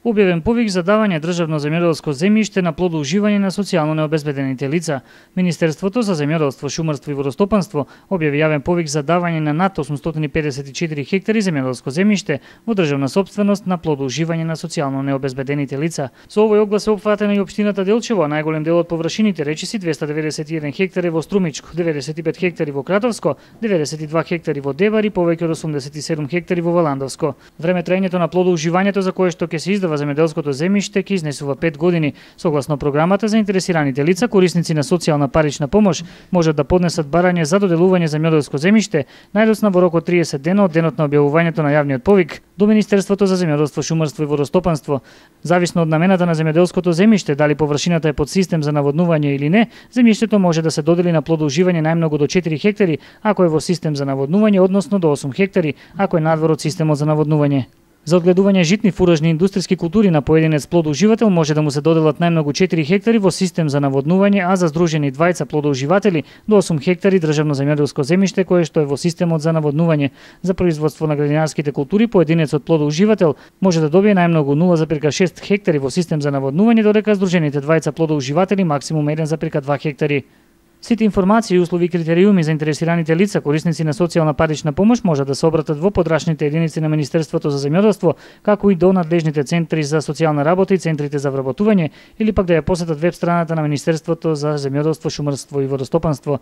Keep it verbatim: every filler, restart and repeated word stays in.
Објавен повик за давање државно земјоделско земјиште на плодоуживање на социјално необезбедените лица. Министерството за земјоделство, шумарство и водостопанство објави јавен повик за давање на над осумстотини педесет и четири хектари земјоделско земјиште во државна сопственост на плодоуживање на социјално необезбедените лица. Со овој оглас е опфатена и општината Делчево, а најголем дел од површините речиси двеста деветдесет и еден хектари во Струмичко, деветдесет и пет хектари во Кратовско, деветдесет и два хектари во Дебар и повеќе од осумдесет и седум хектари во Валандовско. Време траењето на плодоуживањето за кое што ќе се издава земјоделското земјиште ќе изнесува пет години. Согласно програмата, заинтересираните лица, корисници на социјална парична помош, можат да поднесат барање за доделување земјоделско земјиште најдосна во рок од триесет дена од денот на објавувањето на јавниот повик до Министерството за земјоделство, шумарство и водостопанство. Зависно од намената на земјоделското земјиште, дали површината е под систем за наводнување или не, земјиштето може да се додели на плодоуживање најмногу до четири хектари ако е во систем за наводнување, односно до осум хектари ако е надвор од системот за наводнување. За одгледување житни, фуражни и индустријски култури на поединец плодоуживател може да му се доделат најмногу четири хектари во систем за наводнување, а за здружени двајца плодоуживатели до осум хектари државно земјоделско земјиште кое што е во системот за наводнување. За производство на градинарските култури поединецот плодоуживател може да добие најмногу нула зарез шест хектари во систем за наводнување, додека здружените двајца плодоуживатели максимум еден зарез два хектари. Сите информации, услови и критериуми за интересираните лица, корисници на социјална парична помош можат да се обратат во подрачните единици на Министерството за земјоделство, како и до надлежните центри за социјална работа и центрите за вработување, или пак да ја посетат веб страната на Министерството за земјоделство, шумарство и водостопанство.